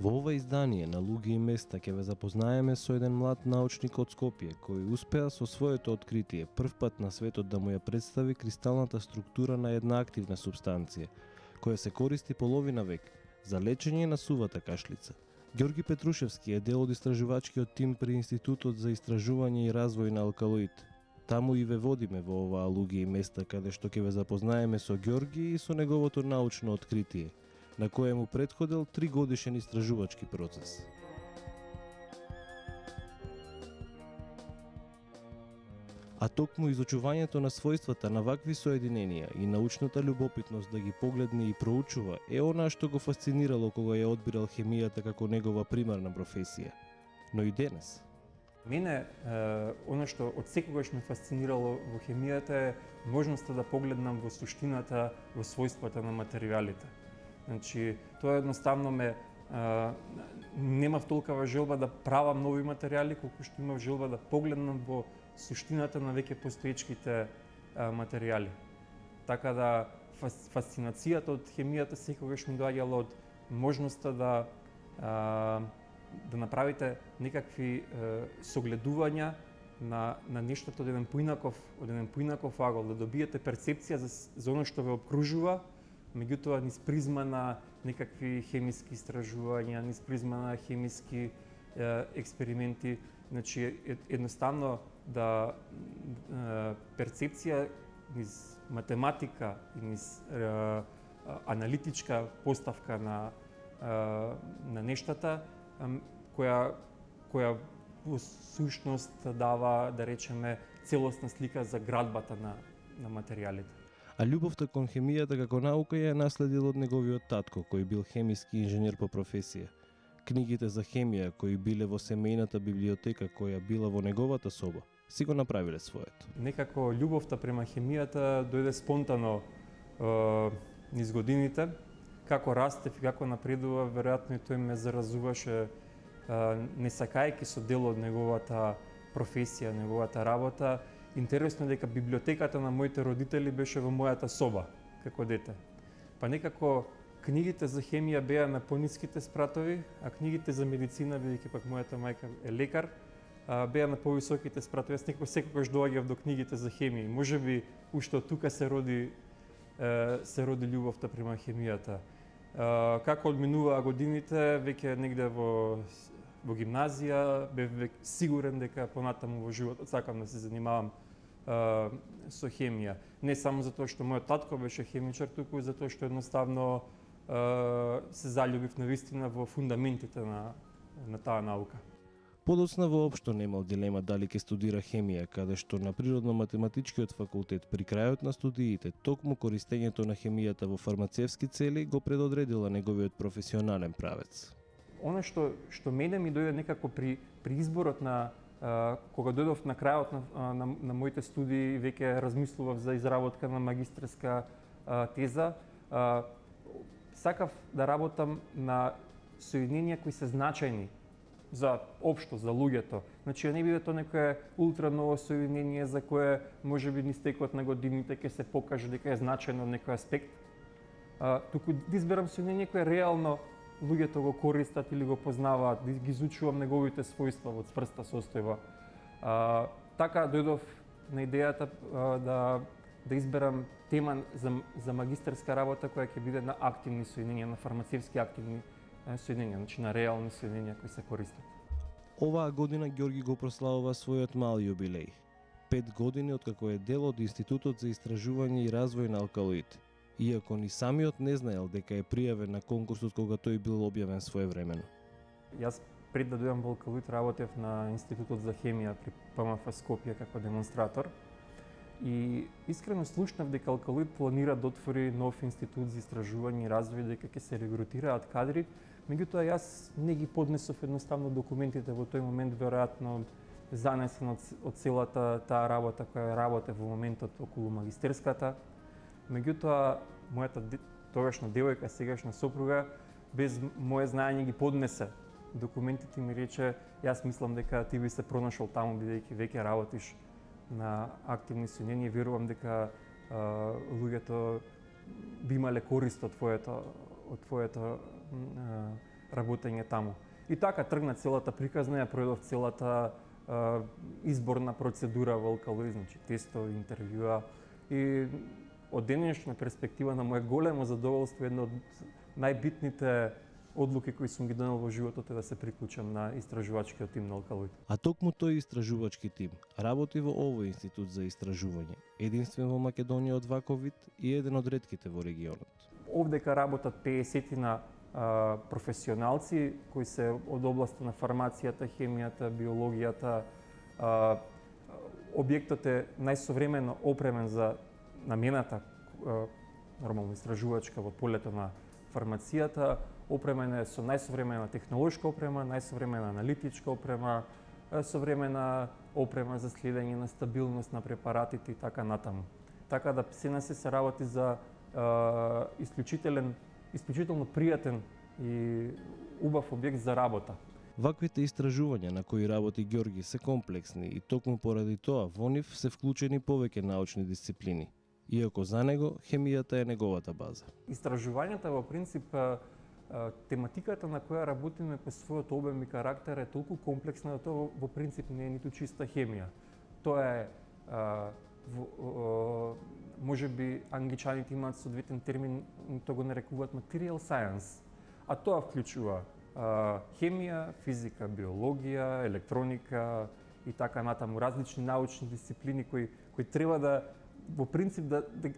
Во ова издание на Луѓе и места ќе ве запознаеме со еден млад научник од Скопје кој успеа со своето откритие првпат на светот да му ја представи кристалната структура на една активна супстанција која се користи половина век за лечење на сувата кашлица. Ѓорги Петрушевски е дел од истражувачкиот тим при Институтот за истражување и развој на алкалоид. Таму и ве водиме во оваа Луѓе и места каде што ќе ве запознаеме со Ѓорги и со неговото научно откритие, на кое му претходел 3-годишен истражувачки процес. А токму изучувањето на својствата на вакви соединенија и научната љубопитност да ги погледне и проучува е она што го фасцинирало кога ја одбирал хемијата како негова примарна професија. Но и денес. Мене, оно што од секогаш ме фасцинирало во хемијата е можноста да погледнам во суштината, во својствата на материјалите. Значи, тоа едноставно немав толкова желба да правам нови материјали, колку што имав желба да погледнам во суштината на веќе постоечките материјали. Така да фасцинацијата од хемијата секогаш ми доаѓала од можноста да направите некакви согледувања на нештото од еден поинаков агол, да добиете перцепција за оно што ве обкружува, меѓутоа низ призма на некакви хемиски истражувања, низ призма на хемиски експерименти, значи едноставно да перцепција низ математика и низ аналитичка поставка на нештата која во сушност дава, да речеме, целосна слика за градбата на материјалите. А љубовта кон хемијата како наука ја наследил од неговиот татко, кој бил хемиски инженер по професија. Книгите за хемија, кои биле во семејната библиотека која била во неговата соба, си го направиле своето. Некако љубовта према хемијата дојде спонтано низ годините. Како растев и како напредува, веројатно и тој ме заразуваше, не сакајќи со дел од неговата професија, неговата работа. Интересно е дека библиотеката на моите родители беше во мојата соба, како дете. Па некако книгите за хемија беа на пониските спратови, а книгите за медицина, бидејќи пак мојата мајка е лекар, беа на повисоките спратови. Јас некако секогаш доаѓав до книгите за хемија. Можеби уште од тука се роди љубовта према хемијата. Како одминуваа годините, веќе негде во гимназија, бев сигурен дека понатаму во животот сакам да се занимавам со хемија. Не само затоа што мојот татко беше хемичар, туку и затоа што едноставно се заљубив навистина во фундаментите на таа наука. Подоцна воопшто немал дилема дали ќе студира хемија, каде што на Природно-математичкиот факултет при крајот на студиите токму користењето на хемијата во фармацевски цели го предодредила неговиот професионален правец. Она што мене ми дојде некако при изборот кога дојдов на крајот на моите студии, веќе размислував за изработка на магистерска теза, сакав да работам на соединенија кои се значајни за општо, за луѓето. Значи, не биде тоа некое ултра ново соединение за кое можеби низ текот на годините ќе се покаже дека е значајно во некој аспект, туку да изберам соединение кое реално луѓето го користат или го познаваат, да ги изучувам неговите својства во цврста состојба. Така дојдов на идејата да изберам тема за магистерска работа која ќе биде на активни соединенија, на фармацевски активни соединенија, значи на реални соединенија кои се користат. Оваа година Ѓорги го прославува својот мал јубилеј. 5 години откако е дел од Институтот за истражување и развој на алкалоид. иако ни самиот не знаел дека е пријавен на конкурсот кога тој бил објавен своевремено. Јас пред да дојдам во Алкалоид работев на Институтот за хемија при ПМФ Скопје како демонстратор. И искрено слушнав дека Алкалоид планира да отвори нов институт за истражување и развој, дека ќе се регрутираат кадри. Меѓутоа јас не ги поднесов едноставно документите во тој момент, веројатно занесен од целата таа работа која работев во моментот околу магистерската. Меѓутоа, мојата тогашна девојка, сегашна сопруга, без моje знаење ги поднесе документите и ми рече, јас мислам дека ти би се пронашол таму бидејќи веќе работиш на активни соединенија, верувам дека луѓето би имале корист од твоето работење таму. И така тргна целата приказна, ја проведов целата изборна процедура во Алкалоид, значи тестови, интервјуа и од денешна перспектива на моje големо задоволство, една од најбитните одлуки кои сум ги донел во животот е да се приклучам на истражувачкиот тим на Алкалоид. А токму тој истражувачки тим работи во овој институт за истражување, единствен во Македонија од ваков вид и еден од ретките во регионот. Овдека работат 50 професионалци кои се од областа на фармацијата, хемијата, биологијата. Објектот е најсовремено опремен за намената нормално истражувачка во полето на фармацијата, опремен е со најсовремена технолошка опрема, најсовремена аналитичка опрема, современа опрема за следење на стабилност на препаратите и така натаму. Така да се работи за исклучително пријатен и убав објект за работа. Ваквите истражувања на кои работи Ѓорги се комплексни и токму поради тоа во нив се вклучени повеќе научни дисциплини, иако за него хемијата е неговата база. Истражувањата во принцип, тематиката на која работиме по својот обем и карактер е толку комплексна да тоа во принцип не е ниту чиста хемија. Тоа е можеби англичаните имаат соодветен термин, тоа го нарекуваат material science, а тоа вклучува хемија, физика, биологија, електроника и така натаму, различни научни дисциплини кои треба да во принцип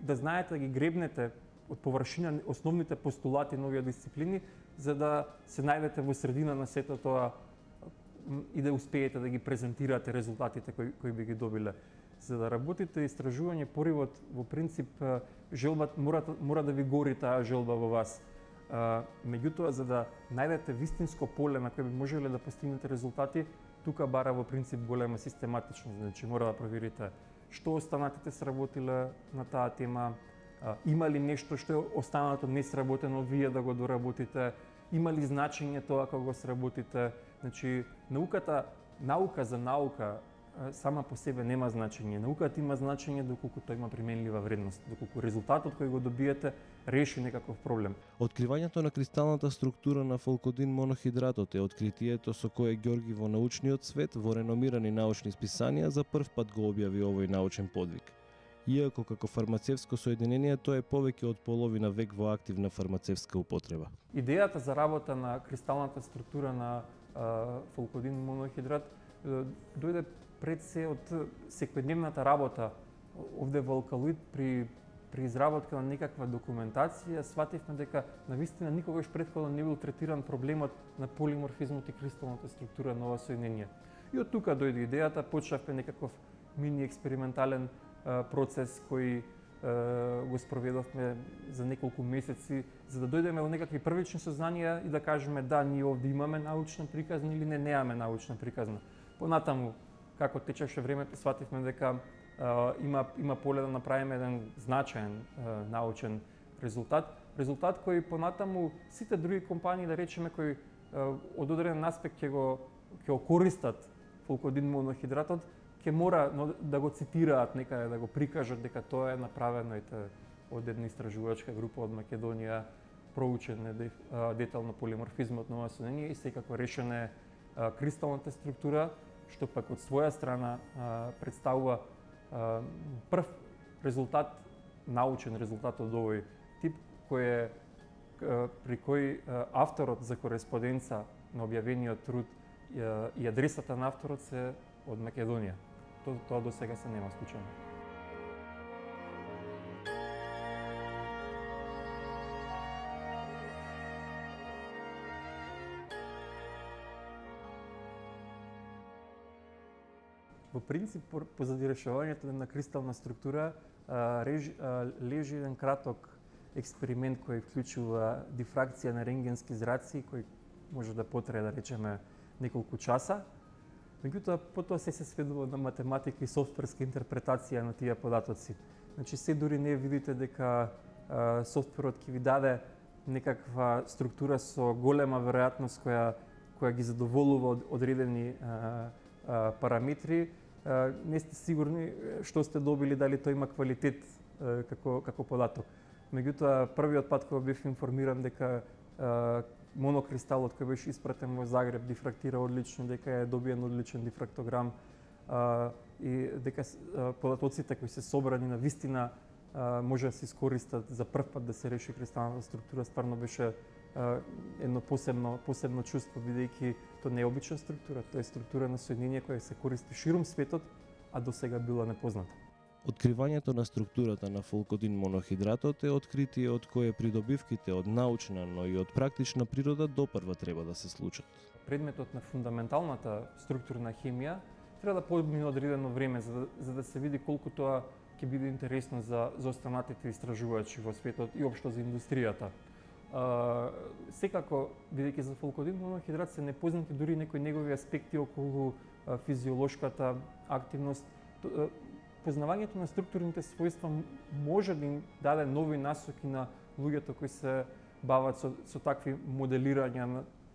да знаете да ги гребнете од површина основните постулати на овие дисциплини, за да се најдете во средина на сето тоа и да успеете да ги презентирате резултатите кои би ги добиле. За да работите истражување, поривот во принцип желбата мора да ви гори таа желба во вас. Меѓутоа, за да најдете вистинско поле на кое би можеле да постигнете резултати, тука бара во принцип голема систематичност. Значи мора да проверите што останатите сработиле на таа тема, има ли нешто што е останато не сработено, вие да го доработите, има ли значење тоа кога го сработите. Значи наука за наука сама по себе нема значење. Науката има значење доколку тоа има применлива вредност, доколку резултатот кој го добиете реши некаков проблем. Откривањето на кристалната структура на фолкодин монохидратот е откритието со кое Ѓорги во научниот свет во реномирани научни списанија за прв пат го објави овој научен подвиг. Иако како фармацевско соединение тоа е повеќе од половина век во активна фармацевска употреба. Идејата за работа на кристалната структура на фолкодин монохидрат дојде пред се од секојдневната работа овде во Алкалоид при изработка на некаква документација. Свативме дека навистина никогаш претходно не бил третиран проблемот на полиморфизмот и кристалната структура на ова соединение. И од тука дојде идејата, почнавме некаков мини експериментален процес кој го спроведовме за неколку месеци, за да дојдеме до некакви првични сознанија и да кажеме да, ние овде имаме научна приказна или немаме научна приказна. Понатаму, како течеше времето, свативме дека има поле да направиме еден значаен научен резултат кој понатаму сите други компании, да речеме, кои од одреден аспект ќе го користат фолкодин монохидратот, ќе мора да го цитираат некаде, да го прикажат дека тоа е направено од една истражувачка група од Македонија, проучен е детално полиморфизмот на ова соединение и секако решена кристалната структура, што пак од своја страна представува прв резултат, научен резултат од овој тип, при кој авторот за кореспонденца на објавениот труд и адресата на авторот се од Македонија. Тоа до сега се нема случајно. Во принцип, позади решавањето на кристална структура лежи еден краток експеримент кој вклучува дифракција на рентгенски зраци, кој може да потрае, да речеме, неколку часа. Меѓутоа, потоа се сведува на математика и софтверска интерпретација на тие податоци. Значи, се дури не видите дека софтверот ќе ви даде некаква структура со голема веројатност која ги задоволува одредени параметри, не сте сигурни што сте добили, дали тој има квалитет како податок. Меѓутоа, првиот пат кога бев информиран дека монокристалот кој беше испратен во Загреб дифрактира одлично, дека е добиен одличен дифрактограм и дека податоците кои се собрани на вистина може да се искористат за прв пат да се реши кристалната структура, стварно беше едно посебно чувство, бидејќи тоа не е обична структура, тоа е структура на соединение која се користи ширум светот, а досега била непозната. Откривањето на структурата на фолкодин монохидратот е откритие од кое придобивките од научна, но и од практична природа допрва треба да се случат. Предметот на фундаменталната структурна хемија треба да помине одредено време за да се види колку тоа ќе биде интересно за останатите истражувачи во светот и општо за индустријата. Секако, бидејќи за фолкодин монохидрат се непознати дури некои негови аспекти околу физиолошката активност, познавањето на структурните својства може да им даде нови насоки на луѓето кои се бават со такви моделирања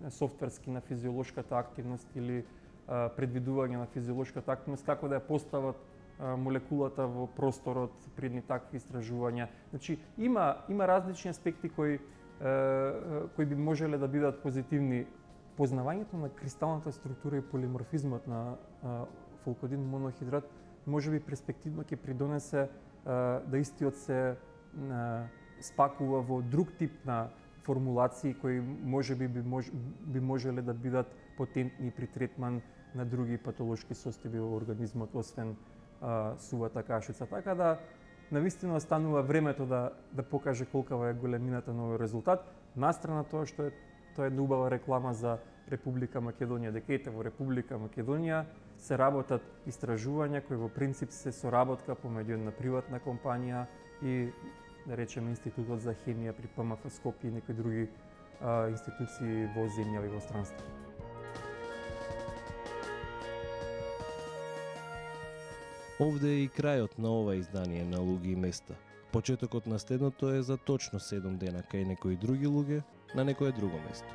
на софтверски на физиолошката активност или предвидување на физиолошката активност, како да ја постават молекулата во просторот при едни такви истражувања. Значи, има различни аспекти кои би можеле да бидат позитивни. Познавањето на кристалната структура и полиморфизмот на фолкодин монохидрат може би перспективно ќе придонесе да истиот се спакува во друг тип на формулации кои би можеле да бидат потентни при третман на други патолошки состојби во организмот, освен сувата кашица. Така да, навистина останува времето да покаже колкава е големината на овој резултат. Настрана тоа што тоа е убава реклама за Република Македонија, дека ете во Република Македонија се работат истражувања кои во принцип се соработка помеѓу една приватна компанија и, да речеме, Институтот за хемија при ПМФ Скопје и некои други институции во земја и во странство. Овде е и крајот на ова издание на Луѓе и места. Почетокот на следното е за точно 7 дена кај некои други луѓе на некое друго место.